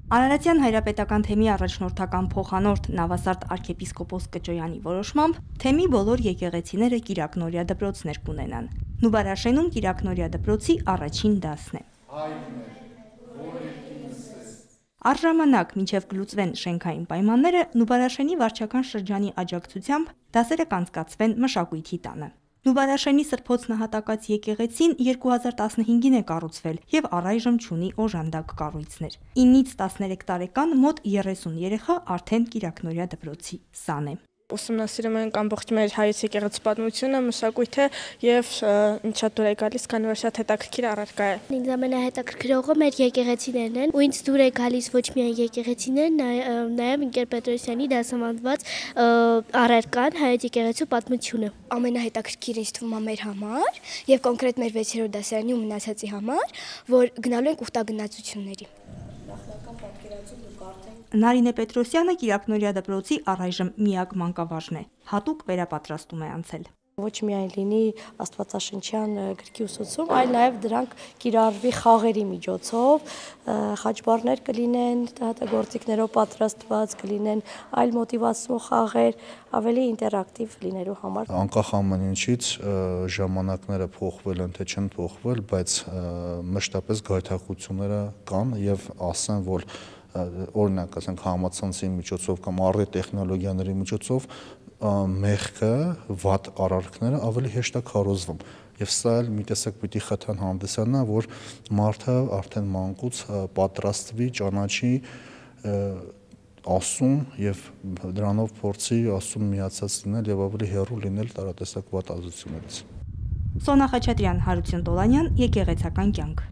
Արարատյան հայրապետական թեմի առաջնորդական փոխանորդ Նավասարդ arczepiskopos Կճոյանի որոշմամբ թեմի բոլոր եկեղեցիները Կիրակնորիա դպրոցներ կունենան։ Նուբարաշենում Կիրակնորիա դպրոցի առաջին դասն է։ Առժամանակ մինչև գլուծվեն շենքային պայմանները, Նուբարաշենի վարչական շրջանի աջակցությամբ դասերը կանցկացվեն Մշակույթի տանը։ Նուբարաշենի Սրբոց նահատակած եկեղեցին 2015-ին է կառուցվել եւ առայժմ չունի օժանդակ կառույցներ։ 9-ից 13 տարեկան մոտ 30 երեխա արդեն Կիրակնորիա դպրոցի սան է։ Ուսումնասիրում ենք ամբողջ մեր հայոց եկեղեցի պատմությունը, մշակույթը եւ շատ դուր է գալիս, քանի որ շատ հետաքրքիր առարկա է։ Ինձ ամենահետաքրքրողը մեր եկեղեցիներն են, ու ինձ դուր է գալիս ոչ միայն եկեղեցիներն, նաեւ Ընկեր Պետրոսյանի դասավանդված առարկան, հայոց եկեղեցու պատմությունը։ Ամենահետաքրքիրը ինձ թվում է մեր համար եւ կոնկրետ մեր 6-րդ դասարանի ու մնացածի համար, որ գնալու ենք ուխտագնացությունների։ Նարինե Պետրոսյանը Կիրակնորիա դպրոցի առայժմ միակ մանկավարժն է, հատուկ վերապատրաստում է անցել։ Ոչ միայն լինի աստվածաշնչյան գրքի ուսուցում, այլ նաև դրանք կիրառվի խաղերի միջոցով, խաչբառներ կլինեն, գործիքներով պատրաստված կլինեն, այլ մոտիվացնող խաղեր, ավելի ինտերակտիվ լինելու համար։ Անկախ ամեն ինչից ժամանակները փոխվել են, թե չեն փոխվել, բայց մշտապես գայթակղությունները կան եւ ասեմ, որ օրինակ ասենք համացանցի միջոցով կամ առի տեխնոլոգիաների միջոցով մեղքը, վատ արարքները ավելի հեշտ է քարոզվում եւ սա էլ մի տեսակ պիտի խթան հանդիսանա, որ մարդը արդեն մանկուց պատրաստվի, ճանաչի ասում եւ դրանով փորձի ասում միացած լինել եւ ավելի հեռու լինել տարատեսակ վատ ազդեցություններից։ Սոնա Խաչատրյան, Հարություն Տոլանյան, Եկեղեցական կյանք։